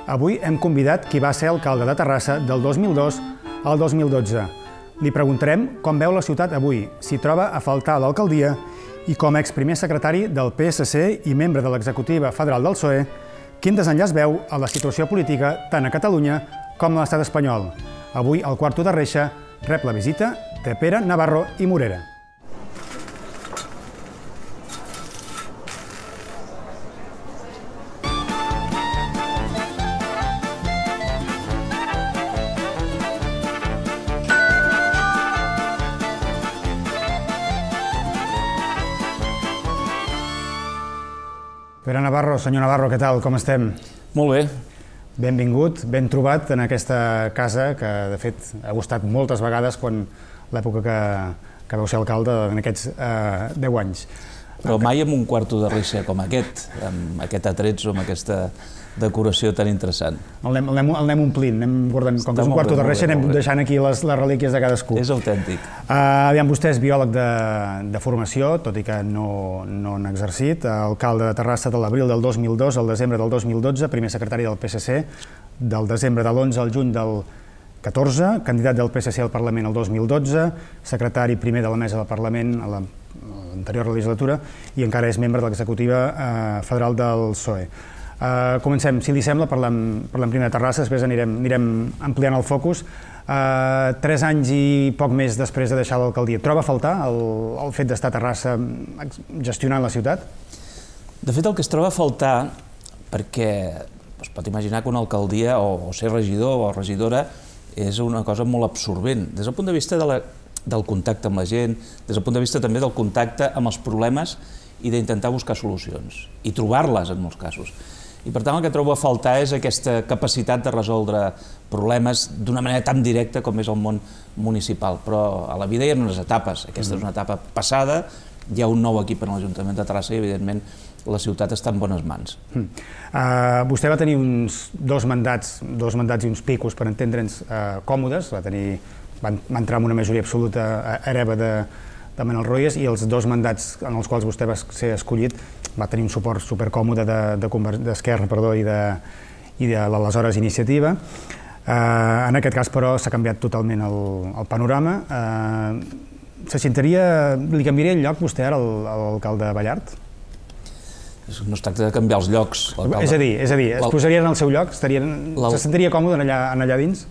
Avui hem convidat qui va ser alcalde de Terrassa del 2002 al 2012. Li preguntarem com veu la ciutat avui, si troba a faltar l'alcaldia i com a exprimer secretari del PSC i membre de l'executiva federal del PSOE, quin desenllaç veu a la situació política tant a Catalunya com a l'estat espanyol. Avui, al Quarto de Reixa, rep la visita de Pere Navarro i Morera. Pere Navarro, senyor Navarro, què tal? Com estem? Molt bé. Benvingut, ben trobat en aquesta casa que, de fet, ha gustat moltes vegades quan l'època que vau ser alcalde en aquests 10 anys. Però mai amb un quarto de reixa com aquest, amb aquest atretzo, amb aquesta decoració tan interessant. El anem omplint, anem guardant, com que és un quarto de reixa, anem deixant aquí les relíquies de cadascú. És autèntic. Aviam, vostè és biòleg de formació, tot i que no n'ha exercit, alcalde de Terrassa de l'abril del 2002 al desembre del 2012, primer secretari del PSC, del desembre de l'11 al juny del 14, candidat del PSC al Parlament el 2012, secretari primer de la mesa del Parlament a l'anterior legislatura i encara és membre de l'executiva federal del PSOE. Comencem, si li sembla, parlem primer de Terrassa, després anirem ampliant el focus. 3 anys i poc més després de deixar l'alcaldia, troba a faltar el fet d'estar a Terrassa gestionant la ciutat? De fet, el que es troba a faltar, perquè es pot imaginar que una alcaldia o ser regidor o regidora és una cosa molt absorbent, des del punt de vista del contacte amb la gent, des del punt de vista també del contacte amb els problemes i d'intentar buscar solucions, i trobar-les en molts casos. I per tant el que trobo a faltar és aquesta capacitat de resoldre problemes d'una manera tan directa com és el món municipal. Però a la vida hi ha unes etapes, aquesta és una etapa passada, hi ha un nou equip en l'Ajuntament de Terrassa i evidentment la ciutat està en bones mans. Vostè va tenir uns dos mandats i uns picos, per entendre'ns, còmodes, va entrar en una majoria absoluta hereva de Manuel Royes i els 2 mandats en els quals vostè va ser escollit va tenir un suport supercòmode d'Esquerra i de l'aleshores Iniciativa. En aquest cas, però, s'ha canviat totalment el panorama. Li canviaria el lloc vostè ara a l'alcalde Ballart? No es tracta de canviar els llocs. És a dir, es posaria en el seu lloc? Se sentiria còmode allà dins?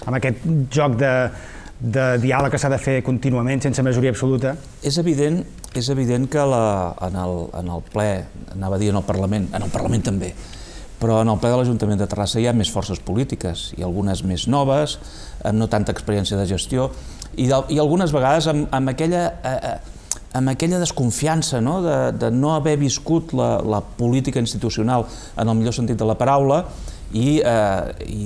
Amb aquest joc de diàleg que s'ha de fer contínuament, sense majoria absoluta? És evident que en el ple, anava a dir en el Parlament també, però en el ple de l'Ajuntament de Terrassa hi ha més forces polítiques, i algunes més noves, amb no tanta experiència de gestió, i algunes vegades amb aquella desconfiança de no haver viscut la política institucional en el millor sentit de la paraula i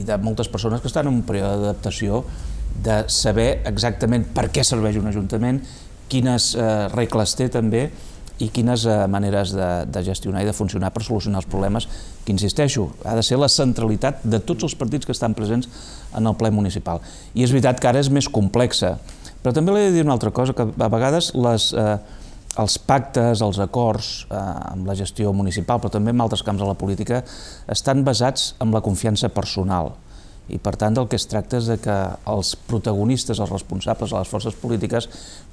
de moltes persones que estan en un període d'adaptació de saber exactament per què serveix un ajuntament, quines regles té també i quines maneres de gestionar i de funcionar per solucionar els problemes, que, insisteixo, ha de ser la centralitat de tots els partits que estan presents en el ple municipal. I és veritat que ara és més complexa, però també li he de dir una altra cosa, que a vegades els pactes, els acords amb la gestió municipal, però també en altres camps de la política, estan basats en la confiança personal. I per tant del que es tracta és que els protagonistes, els responsables de les forces polítiques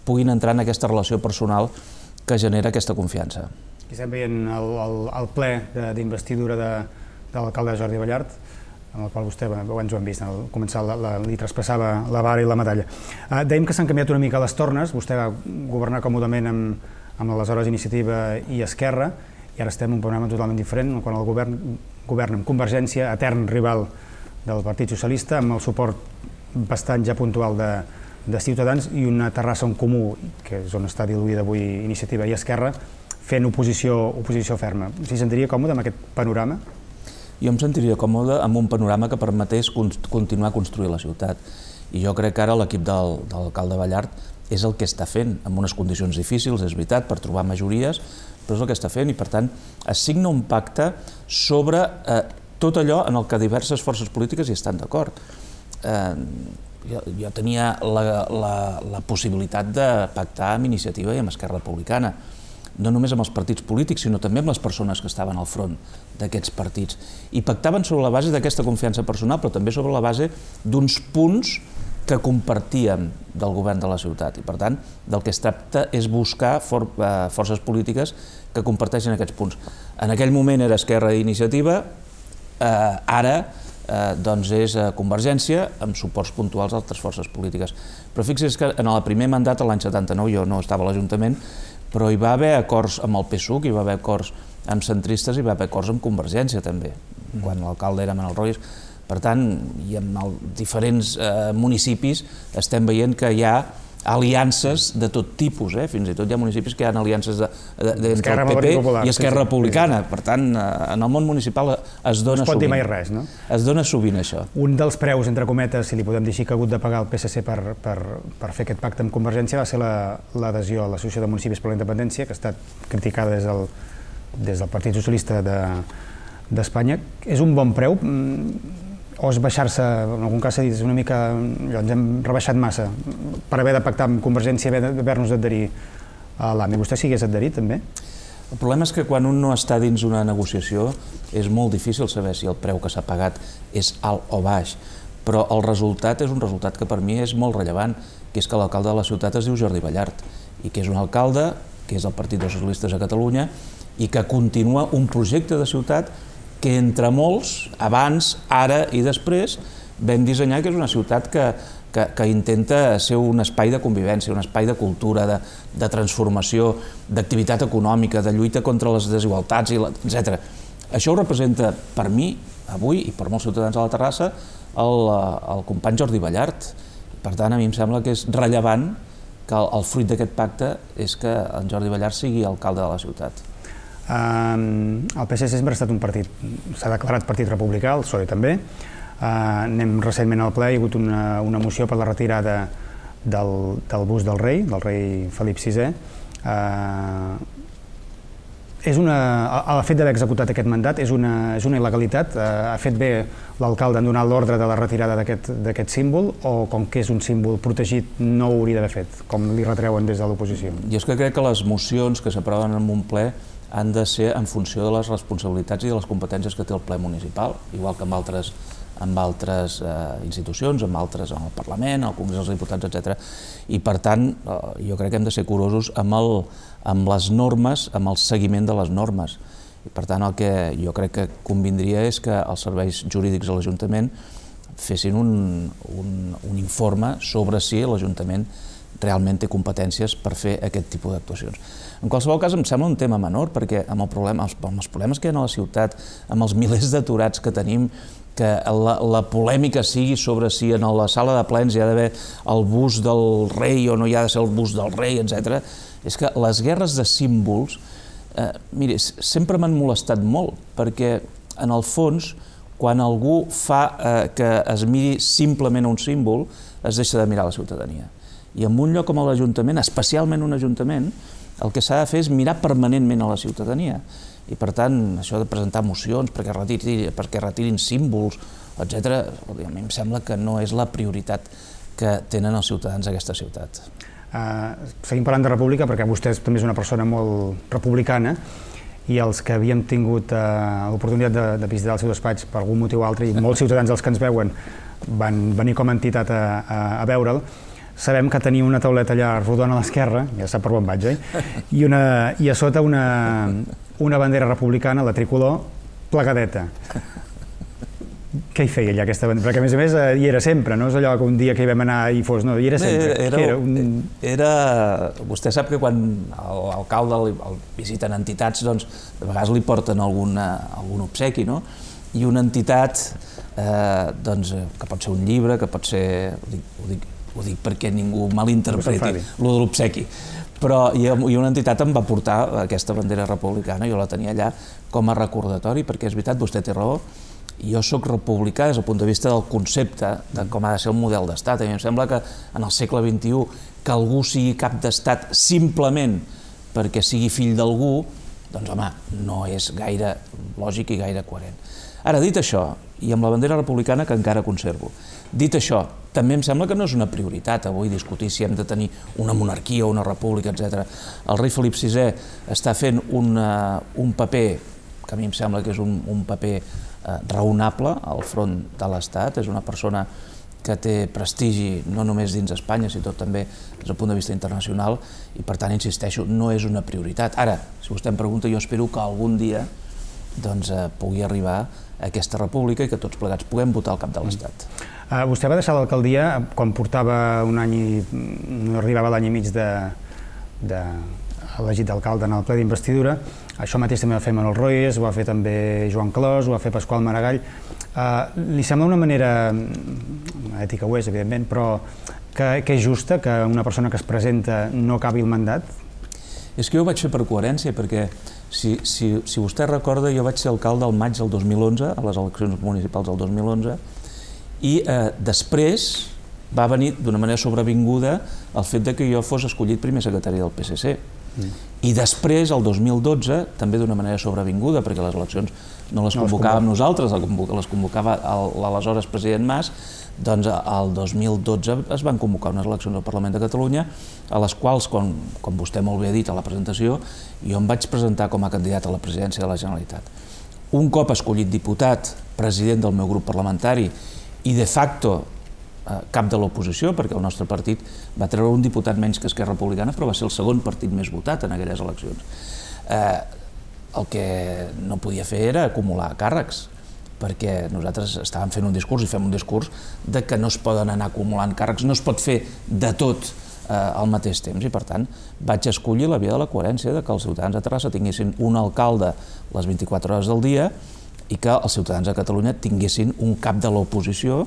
puguin entrar en aquesta relació personal que genera aquesta confiança. Aquí estem veient el ple d'investidura de l'alcalde Jordi Ballart, amb el qual vostè, abans ho hem vist, al començar li traspassava la vara i la medalla. Dèiem que s'han canviat una mica les tornes, vostè va governar còmodament amb l'aleshores Iniciativa i Esquerra, i ara estem en un panorama totalment diferent, quan el govern governa amb Convergència, etern rival del Partit Socialista, amb el suport bastant ja puntual de Ciutadans i una Terrassa en comú, que és on està diluïda avui Iniciativa i Esquerra, fent oposició ferma. S'hi sentiria còmode amb aquest panorama? Jo em sentiria còmode amb un panorama que permetés continuar a construir la ciutat. I jo crec que ara l'equip de l'alcalde Ballart és el que està fent, amb unes condicions difícils, és veritat, per trobar majories, però és el que està fent i, per tant, es signa un pacte sobre tot allò en el que diverses forces polítiques hi estan d'acord. Jo tenia la possibilitat de pactar amb Iniciativa i amb Esquerra Republicana. no només amb els partits polítics, sinó també amb les persones que estaven al front d'aquests partits. I pactaven sobre la base d'aquesta confiança personal, però també sobre la base d'uns punts que compartíem del govern de la ciutat. I, per tant, del que es tracta és buscar forces polítiques que comparteixen aquests punts. En aquell moment era Esquerra i Iniciativa, ara doncs és Convergència, amb suports puntuals d'altres forces polítiques. Però fixi's que en el primer mandat, l'any 79, jo no estava a l'Ajuntament, però hi va haver acords amb el PSUC, hi va haver acords amb centristes, hi va haver acords amb Convergència també, quan l'alcalde era Manel Royes. Per tant, i en diferents municipis estem veient que hi ha aliances de tot tipus, fins i tot hi ha municipis que hi ha aliances entre el PP i Esquerra Republicana. Per tant, en el món municipal es dona sovint. No es pot dir mai res, no? Es dona sovint això. Un dels preus, entre cometes, si li podem dir així, que ha hagut de pagar el PSC per fer aquest pacte amb Convergència va ser l'adhesió a l'Associació de Municipis per la Independència, que ha estat criticada des del Partit Socialista d'Espanya. És un bon preu? O és baixar-se, en algun cas s'ha dit, una mica, ens hem rebaixat massa per haver de pactar amb Convergència i haver-nos d'adherir a l'AMI. Vostè s'hi hagués adherit, també? El problema és que quan un no està dins una negociació és molt difícil saber si el preu que s'ha pagat és alt o baix, però el resultat és un resultat que per mi és molt rellevant, que és que l'alcalde de la ciutat es diu Jordi Ballart i que és un alcalde, que és del Partit dels Socialistes a Catalunya i que continua un projecte de ciutat que entre molts, abans, ara i després, vam dissenyar que és una ciutat que intenta ser un espai de convivència, un espai de cultura, de transformació, d'activitat econòmica, de lluita contra les desigualtats, etc. Això ho representa per mi, avui, i per molts ciutadans de la Terrassa, el company Jordi Ballart. Per tant, a mi em sembla que és rellevant que el fruit d'aquest pacte és que en Jordi Ballart sigui alcalde de la ciutat. El PSC sempre ha estat un partit, s'ha declarat partit republicà, el PSOE també. Anem recentment al ple, hi ha hagut una moció per la retirada del bust del rei Felip VI. El fet d'haver executat aquest mandat és una il·legalitat. Ha fet bé l'alcalde en donar l'ordre de la retirada d'aquest símbol o, com que és un símbol protegit, no ho hauria d'haver fet, com li retreuen des de l'oposició? Jo és que crec que les mocions que s'aproven en un ple han de ser en funció de les responsabilitats i de les competències que té el ple municipal, igual que amb altres institucions, amb el Parlament, al Congrés dels Diputats, etc. I per tant, jo crec que hem de ser curosos amb les normes, amb el seguiment de les normes. I per tant, el que jo crec que convindria és que els serveis jurídics de l'Ajuntament fessin un informe sobre si l'Ajuntament realment té competències per fer aquest tipus d'actuacions. En qualsevol cas, em sembla un tema menor, perquè amb els problemes que hi ha a la ciutat, amb els milers d'aturats que tenim, que la polèmica sigui sobre si en la sala de plens hi ha d'haver el bust del rei o no hi ha de ser el bust del rei, etc. És que les guerres de símbols, miri, sempre m'han molestat molt, perquè en el fons, quan algú fa que es miri simplement un símbol, es deixa de mirar la ciutadania. I en un lloc com l'Ajuntament, especialment un Ajuntament, el que s'ha de fer és mirar permanentment a la ciutadania. I per tant, això de presentar mocions perquè retirin símbols, etc., a mi em sembla que no és la prioritat que tenen els ciutadans d'aquesta ciutat. Seguim parlant de república perquè vostè també és una persona molt republicana i els que havíem tingut l'oportunitat de visitar el seu despatx per algun motiu o altre, i molts ciutadans dels que ens veuen van venir com a entitat a veure'l, sabem que tenia una tauleta allà rodona a l'esquerra, ja sap per on vaig, i a sota una bandera republicana, la tricolor, plegadeta. Què hi feia allà aquesta bandera? Perquè, a més, hi era sempre, no és allò que un dia que hi vam anar i fos, no, hi era sempre. Vostè sap que quan l'alcalde el visiten entitats, doncs, de vegades li porten algun obsequi, no? I una entitat, que pot ser un llibre, que pot ser, ho dic perquè ningú malinterpreti, lo de l'obsequi, però una entitat em va portar aquesta bandera republicana, jo la tenia allà com a recordatori, perquè és veritat, vostè té raó, jo soc republicà des del punt de vista del concepte de com ha de ser el model d'estat. A mi em sembla que en el segle XXI que algú sigui cap d'estat simplement perquè sigui fill d'algú, doncs home, no és gaire lògic i gaire coherent. Ara, dit això, i amb la bandera republicana que encara conservo, dit això, també em sembla que no és una prioritat avui discutir si hem de tenir una monarquia o una república, etc. El rei Felip VI està fent un paper, que a mi em sembla que és un paper raonable al front de l'Estat, és una persona que té prestigi no només dins Espanya, sinó també des del punt de vista internacional, i per tant, insisteixo, no és una prioritat. Ara, si vostè em pregunta, jo espero que algun dia pugui arribar a aquesta república i que tots plegats puguem votar al cap de l'Estat. Vostè va deixar l'alcaldia quan portava un any i no arribava l'any i mig elegit d'alcalde en el ple d'investidura. Això mateix també va fer Manuel Royes, ho va fer també Joan Clos, ho va fer Pasqual Maragall. Li sembla una manera, ètica ho és, evidentment, però que és justa que una persona que es presenta no acabi el mandat? És que jo ho vaig fer per coherència, perquè si vostè recorda, jo vaig ser alcalde al maig del 2011, a les eleccions municipals del 2011, i després va venir d'una manera sobrevinguda el fet que jo fos escollit primer secretari del PSC. I després, el 2012, també d'una manera sobrevinguda, perquè les eleccions no les convocàvem nosaltres, les convocava l'aleshores president Mas, doncs el 2012 es van convocar unes eleccions al Parlament de Catalunya, a les quals, com vostè molt bé ha dit a la presentació, jo em vaig presentar com a candidat a la presidència de la Generalitat. Un cop escollit diputat, president del meu grup parlamentari i de facto cap de l'oposició, perquè el nostre partit va treure un diputat menys que Esquerra Republicana, però va ser el segon partit més votat en aquelles eleccions. El que no podia fer era acumular càrrecs, perquè nosaltres estàvem fent un discurs i fem un discurs de que no es poden anar acumulant càrrecs, no es pot fer de tot al mateix temps, i per tant vaig escollir la via de la coherència, de que els ciutadans de Terrassa tinguessin un alcalde les 24 hores del dia i que els ciutadans de Catalunya tinguessin un cap de l'oposició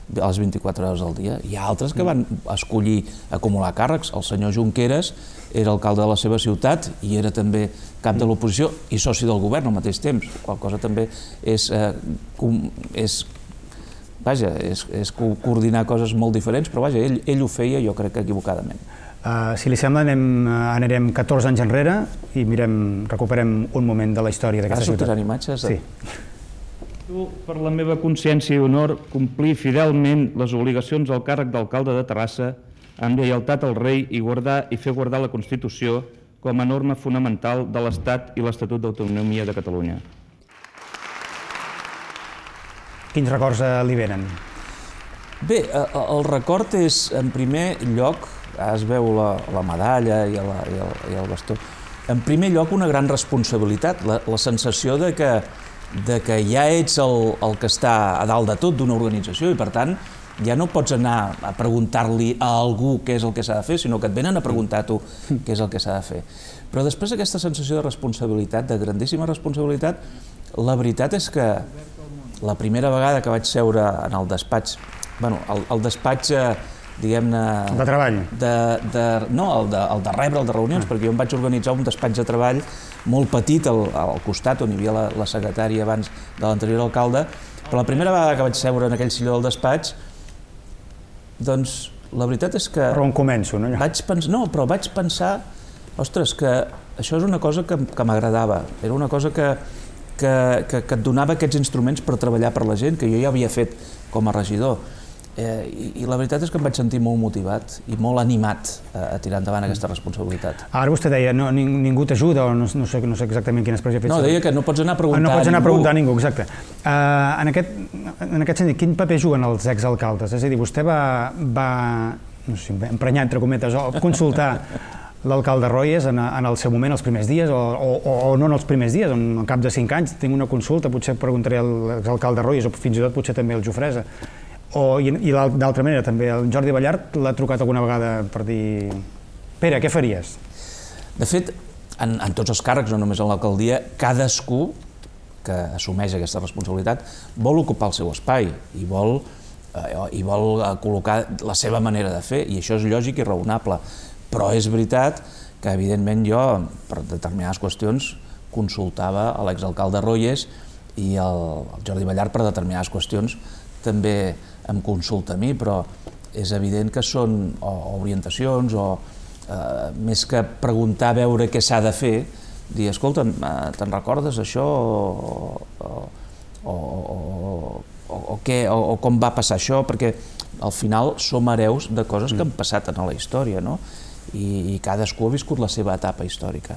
a les 24 hores del dia. Hi ha altres que van escollir acumular càrrecs. El senyor Junqueras era alcalde de la seva ciutat i era també cap de l'oposició i soci del govern al mateix temps, qual cosa també és coordinar coses molt diferents, però vaja, ell ho feia, jo crec que equivocadament. Si li sembla, anirem 14 anys enrere i recuperem un moment de la història d'aquesta ciutat. Sortiran imatges? Sí. Per la meva consciència i honor, complir fidelment les obligacions al càrrec d'alcalde de Terrassa amb lleialtat al rei i guardar i fer guardar la Constitució com a norma fonamental de l'Estat i l'Estatut d'Autonomia de Catalunya. Quins records li venen? Bé, el record és, en primer lloc, es veu la medalla i el bastó, en primer lloc una gran responsabilitat, la sensació de que ja ets el que està a dalt de tot d'una organització i, per tant, ja no pots anar a preguntar-li a algú què és el que s'ha de fer, sinó que et venen a preguntar a tu què és el que s'ha de fer. Però després d'aquesta sensació de responsabilitat, de grandíssima responsabilitat, la veritat és que la primera vegada que vaig seure en el despatx, el despatx, diguem-ne... De treball? No, el de rebre, el de reunions, perquè jo em vaig organitzar un despatx de treball molt petit al costat, on hi havia la secretària abans de l'anterior alcalde, però la primera vegada que vaig seure en aquell silló del despatx, doncs la veritat és que... Però on començo, no? No, però vaig pensar, ostres, que això és una cosa que m'agradava, era una cosa que et donava aquests instruments per treballar per la gent, que jo ja havia fet com a regidor. I la veritat és que em vaig sentir molt motivat i molt animat a tirar endavant aquesta responsabilitat. Ara vostè deia, ningú t'ajuda, o no sé exactament quina expressió ha fet. No, deia que no pots anar a preguntar a ningú. No pots anar a preguntar a ningú, exacte. En aquest sentit, quin paper juguen els exalcaldes? És a dir, vostè va no sé, emprenyar, entre cometes, o consultar l'alcalde Royes en el seu moment, els primers dies, o no en els primers dies, al cap de 5 anys tinc una consulta, potser preguntaré a l'exalcalde Royes, o fins i tot potser també al Jofresa. I d'altra manera, també el Jordi Ballart l'ha trucat alguna vegada per dir Pere, què faries? De fet, en tots els càrrecs, no només en l'alcaldia, cadascú que assumeix aquesta responsabilitat vol ocupar el seu espai i vol col·locar la seva manera de fer, i això és lògic i raonable. Però és veritat que, evidentment, jo, per determinades qüestions, consultava a l'exalcalde Royes i el Jordi Ballart per determinades qüestions també em consulta a mi, però és evident que són orientacions o més que preguntar a veure què s'ha de fer, dir, escolta, te'n recordes això o com va passar això, perquè al final som hereus de coses que han passat en la història, no? I cadascú ha viscut la seva etapa històrica.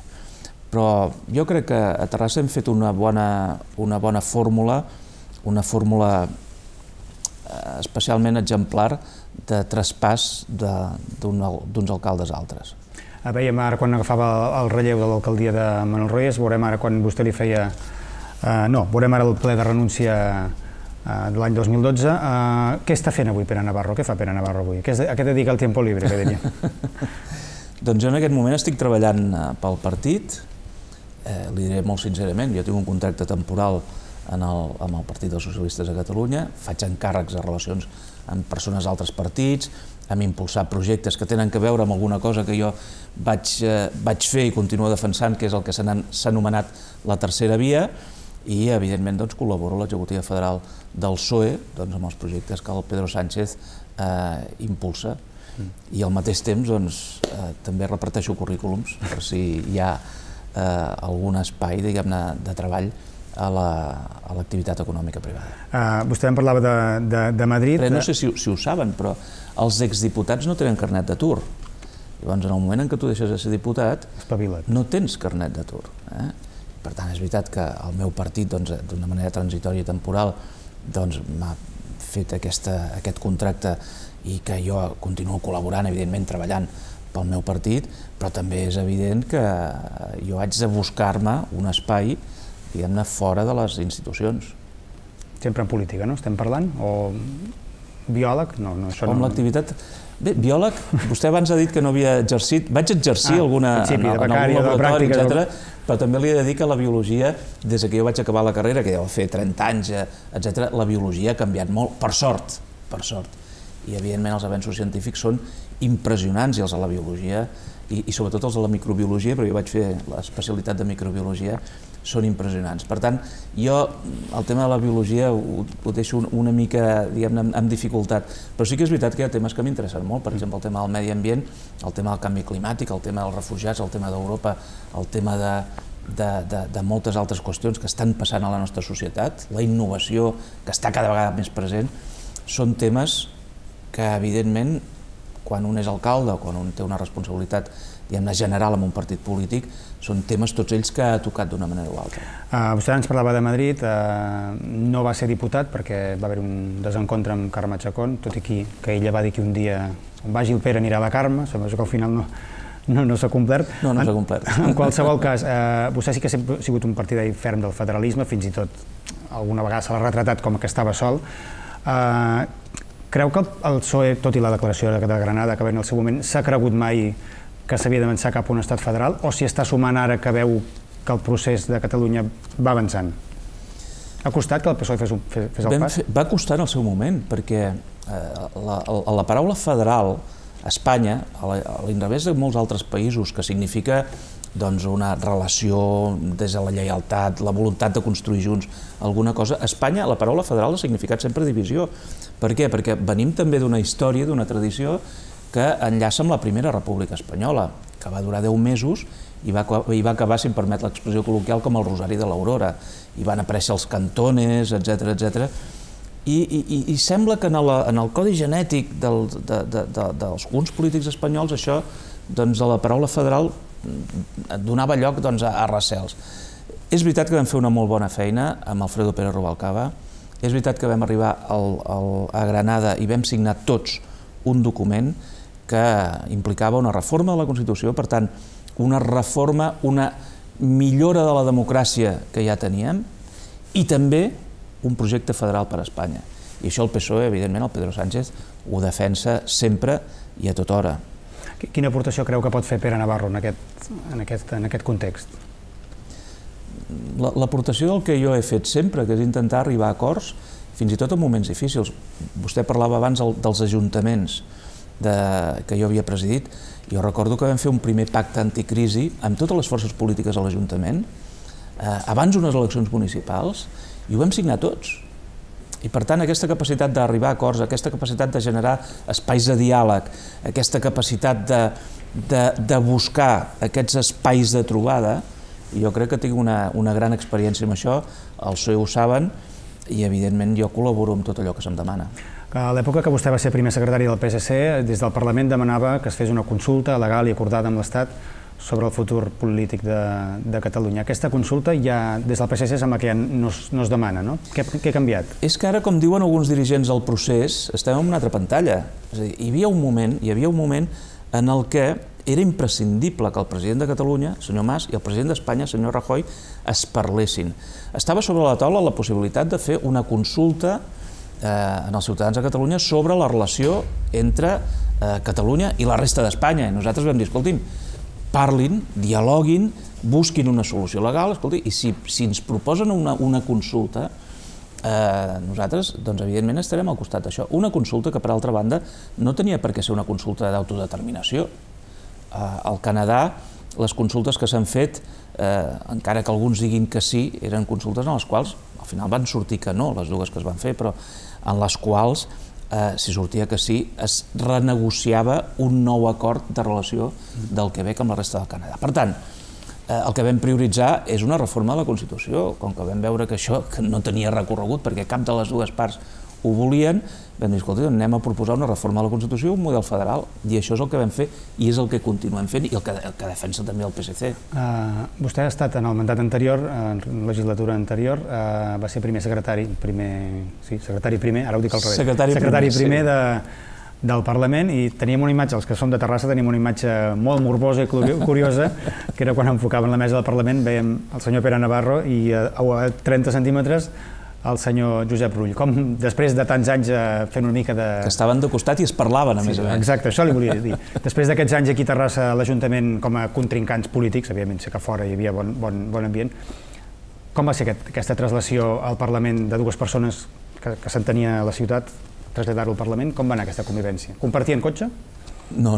Però jo crec que a Terrassa hem fet una bona fórmula, una fórmula especialment exemplar de traspàs d'uns alcaldes a altres. Veiem ara quan agafava el relleu de l'alcaldia de Manuel Reyes, veurem ara quan vostè li feia... No, veurem ara el ple de renúncia de l'any 2012. Què està fent avui Pere Navarro? Què fa Pere Navarro avui? A què dedica el tiempo libre, que diria? Doncs jo en aquest moment estic treballant pel partit, li diré molt sincerament, jo tinc un contracte temporal amb el Partit dels Socialistes de Catalunya, faig encàrrecs de relacions amb persones d'altres partits, hem impulsat projectes que tenen a veure amb alguna cosa que jo vaig fer i continuo defensant, que és el que s'ha anomenat la tercera via, i evidentment col·laboro a l'executiva federal del PSOE amb els projectes que el Pedro Sánchez impulsa. I al mateix temps també reparteixo currículums per si hi ha algun espai de treball a l'activitat econòmica privada. Vostè em parlava de Madrid... No sé si ho saben, però els exdiputats no tenen carnet d'atur. Llavors, en el moment en què tu deixes de ser diputat, no tens carnet d'atur. Per tant, és veritat que el meu partit, d'una manera transitòria i temporal, m'ha fet aquest contracte i que jo continuo col·laborant, evidentment, treballant pel meu partit, però també és evident que jo haig de buscar-me un espai, diguem-ne, fora de les institucions. Sempre en política, no? Estem parlant? O biòleg? No, això no... Com l'activitat... Bé, biòleg, vostè abans ha dit que no havia exercit, vaig exercir en algun laboratori, etc., però també li he de dir que la biologia, des que jo vaig acabar la carrera, que deu fer 30 anys, etc., la biologia ha canviat molt, per sort, i evidentment els avenços científics són impressionants, i els de la biologia, i sobretot els de la microbiologia, però jo vaig fer l'especialitat de microbiologia, són impressionants. Per tant, jo el tema de la biologia ho deixo una mica, diguem-ne, amb dificultat, però sí que és veritat que hi ha temes que m'interessen molt, per exemple, el tema del medi ambient, el tema del canvi climàtic, el tema dels refugiats, el tema d'Europa, el tema de moltes altres qüestions que estan passant a la nostra societat, la innovació que està cada vegada més present, són temes que, evidentment, quan un és alcalde o quan un té una responsabilitat general en un partit polític, són temes tots ells que ha tocat d'una manera o altra. Vostè ens parlava de Madrid, no va ser diputat perquè va haver un desencontre amb Carme Chacón, tot i que ella va dir que un dia on vagi el Pere anirà la Carme, sembla que al final no s'ha complert. No s'ha complert. En qualsevol cas, vostè sí que ha sigut un partidari ferm del federalisme, fins i tot alguna vegada se l'ha retratat com que estava sol. Creu que el PSOE, tot i la declaració de Granada que va en el seu moment, s'ha cregut mai que s'havia d'avançar cap a un estat federal, o si està sumant ara que veu que el procés de Catalunya va avançant? Ha costat que el PSOE fes el pas? Va costar en el seu moment, perquè la paraula federal a Espanya, a l'inrevés de molts altres països, que significa una relació des de la lleialtat, la voluntat de construir junts alguna cosa, a Espanya la paraula federal ha significat sempre divisió. Per què? Perquè venim també d'una història, d'una tradició que enllaça amb la Primera República Espanyola, que va durar 10 mesos i va acabar, si em permet l'expressió col·loquial, com el Rosari de l'Aurora. I van aparèixer els cantones, etc. I sembla que en el codi genètic d'alguns polítics espanyols això, a la paraula federal, donava lloc a recels. És veritat que vam fer una molt bona feina amb Alfredo Pérez Rubalcaba, és veritat que vam arribar a Granada i vam signar tots un document que implicava una reforma de la Constitució, per tant, una reforma, una millora de la democràcia que ja teníem i també un projecte federal per a Espanya. I això el PSOE, evidentment, el Pedro Sánchez, ho defensa sempre i a tota hora. Quina aportació creu que pot fer Pere Navarro en aquest context? L'aportació del que jo he fet sempre, que és intentar arribar a acords, fins i tot en moments difícils. Vostè parlava abans dels ajuntaments que jo havia presidit. Jo recordo que vam fer un primer pacte anticrisi amb totes les forces polítiques a l'Ajuntament, abans d'unes eleccions municipals, i ho vam signar tots. I per tant, aquesta capacitat d'arribar a acords, aquesta capacitat de generar espais de diàleg, aquesta capacitat de buscar aquests espais de trobada, jo crec que tinc una gran experiència amb això, el PSOE ho saben, i evidentment jo col·laboro amb tot allò que se'm demana. A l'època que vostè va ser primer secretari del PSC, des del Parlament demanava que es fes una consulta legal i acordada amb l'Estat sobre el futur polític de Catalunya. Aquesta consulta ja des del PSC sembla que ja no es demana, no? Què ha canviat? És que ara, com diuen alguns dirigents del procés, estem en una altra pantalla. És a dir, hi havia un moment en el que era imprescindible que el president de Catalunya, senyor Mas, i el president d'Espanya, senyor Rajoy, es parlessin. Estava sobre la taula la possibilitat de fer una consulta en els ciutadans de Catalunya sobre la relació entre Catalunya i la resta d'Espanya. I nosaltres vam dir, escolti'm, parlin, dialoguin, busquin una solució legal, escolti, i si ens proposen una consulta, nosaltres, doncs, evidentment, estarem al costat d'això. Una consulta que, per altra banda, no tenia per què ser una consulta d'autodeterminació. Al Canadà, les consultes que s'han fet, encara que alguns diguin que sí, eren consultes en les quals, al final van sortir que no, les dues que es van fer, però en les quals, si sortia que sí, es renegociava un nou acord de relació del Quebec amb la resta del Canadà. Per tant, el que vam prioritzar és una reforma de la Constitució. Com que vam veure que això no tenia recorregut perquè cap de les dues parts ho volien, vam dir, escolta, anem a proposar una reforma de la Constitució, un model federal, i això és el que vam fer i és el que continuem fent i el que defensa també el PSC. Vostè ha estat en el mandat anterior, en la legislatura anterior, va ser primer secretari primer, ara ho dic al revés, secretari primer del Parlament, i teníem una imatge, els que som de Terrassa tenim una imatge molt morbosa i curiosa, que era quan enfocaven la mesa del Parlament, veiem el senyor Pere Navarro i a 30 centímetres el senyor Josep Rull. Com després de tants anys fent una mica de... Que estaven de costat i es parlaven, a més a més. Exacte, això li volia dir. Després d'aquests anys aquí a Terrassa, a l'Ajuntament, com a contrincants polítics, evidentment sé que fora hi havia bon ambient, com va ser aquesta traslació al Parlament de dues persones que s'entenia a la ciutat, traslladar-ho al Parlament? Com va anar aquesta convivència? Compartien cotxe? No,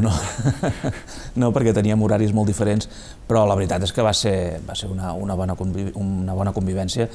perquè teníem horaris molt diferents, però la veritat és que va ser una bona convivència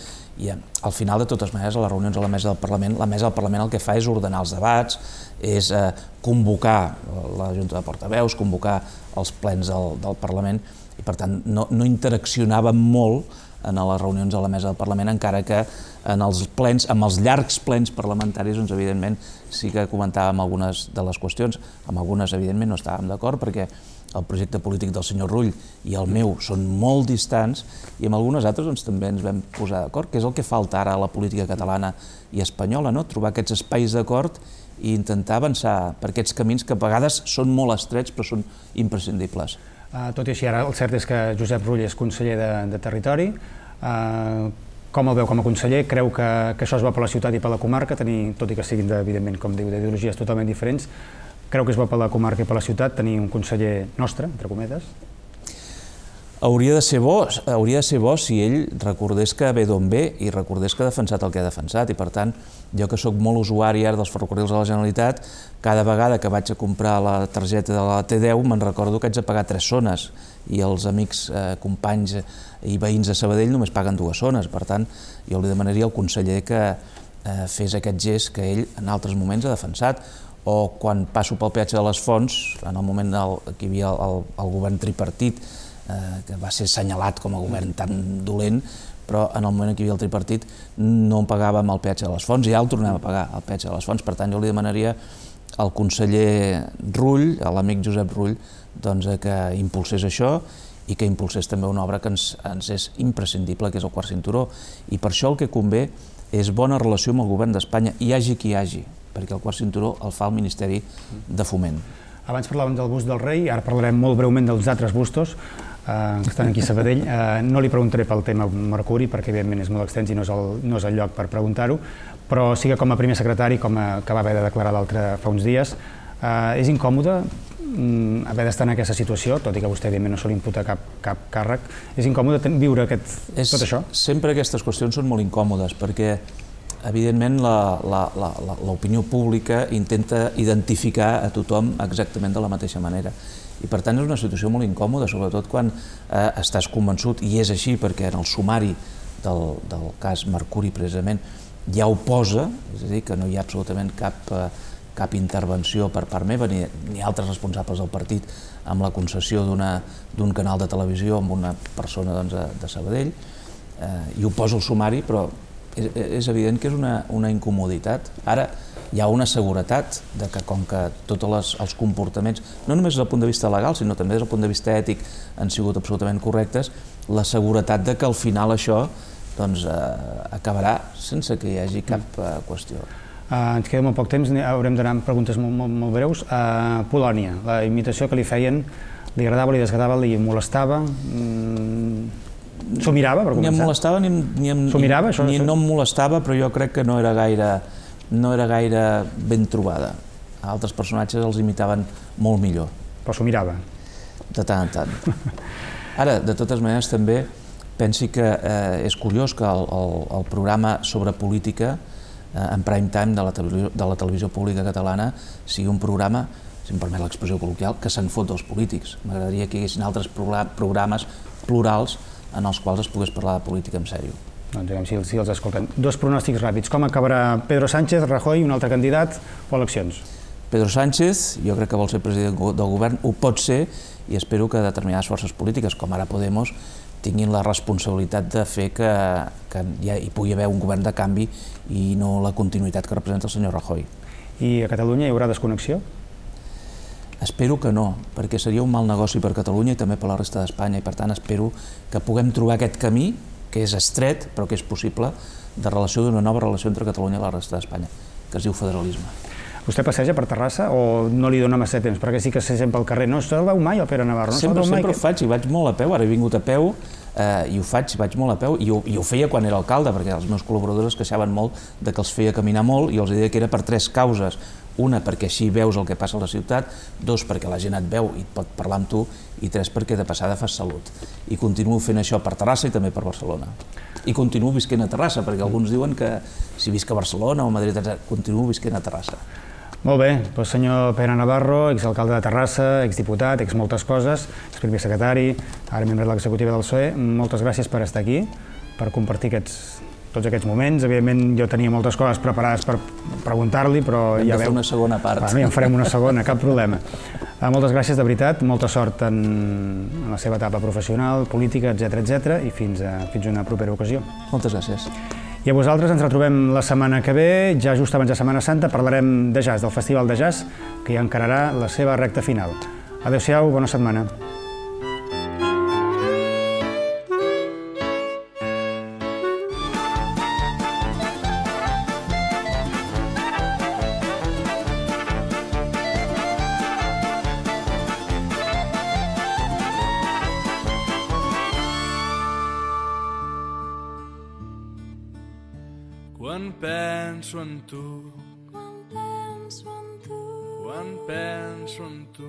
i al final, de totes maneres, a les reunions a la mesa del Parlament el que fa és ordenar els debats, és convocar la Junta de Portaveus, convocar els plens del Parlament i, per tant, no interaccionàvem molt en les reunions a la mesa del Parlament, encara que en els plens, amb els llargs plens parlamentaris, doncs, evidentment, sí que comentàvem algunes de les qüestions. Amb algunes, evidentment, no estàvem d'acord, perquè el projecte polític del senyor Rull i el meu són molt distants, i amb algunes altres doncs, també ens vam posar d'acord, que és el que falta ara a la política catalana i espanyola, no? Trobar aquests espais d'acord i intentar avançar per aquests camins que a vegades són molt estrets, però són imprescindibles. Tot i així, ara el cert és que Josep Rull és conseller de Territori. Com el veu com a conseller? Creu que això es va per la ciutat i per la comarca, tot i que siguin, evidentment, com diu, d'ideologies totalment diferents, creu que es va per la comarca i per la ciutat tenir un conseller nostre, entre cometes? Hauria de ser bo si ell recordés que ve d'on ve i recordés que ha defensat el que ha defensat, i per tant, jo que sóc molt usuari ara dels ferrocarrils de la Generalitat, cada vegada que vaig a comprar la targeta de la T10 me'n recordo que haig de pagar 3 zones i els amics, companys i veïns de Sabadell només paguen 2 zones. Per tant, jo li demanaria al conseller que fes aquest gest que ell en altres moments ha defensat, o quan passo pel peatge de les Fonts, en el moment que hi havia el govern tripartit, que va ser assenyalat com a govern tan dolent, però en el moment que hi havia el tripartit no pagàvem el peatge de les Fonts i ja el tornem a pagar, el peatge de les Fonts. Per tant, jo li demanaria al conseller Rull, a l'amic Josep Rull, que impulsés això i que impulsés també una obra que ens és imprescindible, que és el quart cinturó. I per això el que convé és bona relació amb el govern d'Espanya, hi hagi qui hi hagi, perquè el quart cinturó el fa el Ministeri de Foment. Abans parlàvem del bust del rei, ara parlarem molt breument dels altres bustos que estan aquí a Sabadell. No li preguntaré pel tema Mercuri, perquè evidentment és molt extens i no és el lloc per preguntar-ho, però sí que com a primer secretari, que va haver de declarar l'altre fa uns dies, és incòmode haver d'estar en aquesta situació, tot i que vostè evidentment no se li imputa cap càrrec. És incòmode viure tot això? Sempre aquestes qüestions són molt incòmodes, perquè evidentment l'opinió pública intenta identificar a tothom exactament de la mateixa manera. I per tant és una situació molt incòmoda, sobretot quan estàs convençut, i és així perquè en el sumari del cas Mercuri precisament ja ho posa, és a dir, que no hi ha absolutament cap intervenció per part meva ni altres responsables del partit amb la concessió d'un canal de televisió amb una persona de Sabadell, i ho posa al sumari, però és evident que és una incomoditat. Ara, hi ha una seguretat de que com que tots els comportaments, no només des del punt de vista legal, sinó també des del punt de vista ètic, han sigut absolutament correctes, la seguretat de que al final això acabarà sense que hi hagi cap qüestió. Ens queda molt poc temps, haurem d'anar amb preguntes molt breus. Polònia, la imitació que li feien, li agradava, li desagradava, li molestava? S'ho mirava, per començar? Ni em molestava ni no em molestava, però jo crec que no era gaire ben trobada. Altres personatges els imitaven molt millor. Però s'ho mirava? De tant en tant. Ara, de totes maneres, també pensi que és curiós que el programa sobre política en prime time de la televisió pública catalana sigui un programa, si em permet l'expressió col·loquial, que se'n fot dels polítics. M'agradaria que hi haguessin altres programes plurals en els quals es pogués parlar de política en sèrio. Doncs diguem, si els escolten. Dos pronòstics ràpids. Com acabarà Pedro Sánchez, Rajoy, un altre candidat o eleccions? Pedro Sánchez, jo crec que vol ser president del govern, ho pot ser, i espero que determinades forces polítiques, com ara Podemos, tinguin la responsabilitat de fer que hi pugui haver un govern de canvi i no la continuïtat que representa el senyor Rajoy. I a Catalunya hi haurà desconnexió? Espero que no, perquè seria un mal negoci per Catalunya i també per la resta d'Espanya, i per tant espero que puguem trobar aquest camí, que és estret, però que és possible, de relació d'una nova relació entre Catalunya i la resta d'Espanya, que es diu federalisme. Vostè passeja per Terrassa o no li dona massa temps? Perquè sí que s'agent pel carrer. No se'l veu mai, el Pere Navarro? Sempre ho faig, i vaig molt a peu. Ara he vingut a peu i ho faig, vaig molt a peu, i ho feia quan era alcalde, perquè els meus col·laboradors es queixaven molt de que els feia caminar molt, i els deia que era per tres causes. Una, perquè així veus el que passa a la ciutat; dos, perquè la gent et veu i et pot parlar amb tu; i tres, perquè de passada fas salut. I continuo fent això per Terrassa i també per Barcelona. I continuo visquent a Terrassa, perquè alguns diuen que si visc a Barcelona o a Madrid, continuo visquent a Terrassa. Molt bé, doncs senyor Pere Navarro, exalcalde de Terrassa, exdiputat, moltes coses, exprimer secretari, ara membre de l'executiva del PSOE, moltes gràcies per estar aquí, per compartir tots aquests moments. Evidentment jo tenia moltes coses preparades per preguntar-li, però ja veu... Hem de fer una segona part. Ja en farem una segona, cap problema. Moltes gràcies de veritat, molta sort en la seva etapa professional, política, etc, i fins una propera ocasió. Moltes gràcies. I a vosaltres ens retrobem la setmana que ve, ja just abans de Setmana Santa, parlarem de jazz, del Festival de Jazz, que ja encararà la seva recta final. Adéu-siau, bona setmana. Quan penso en tu, quan penso en tu,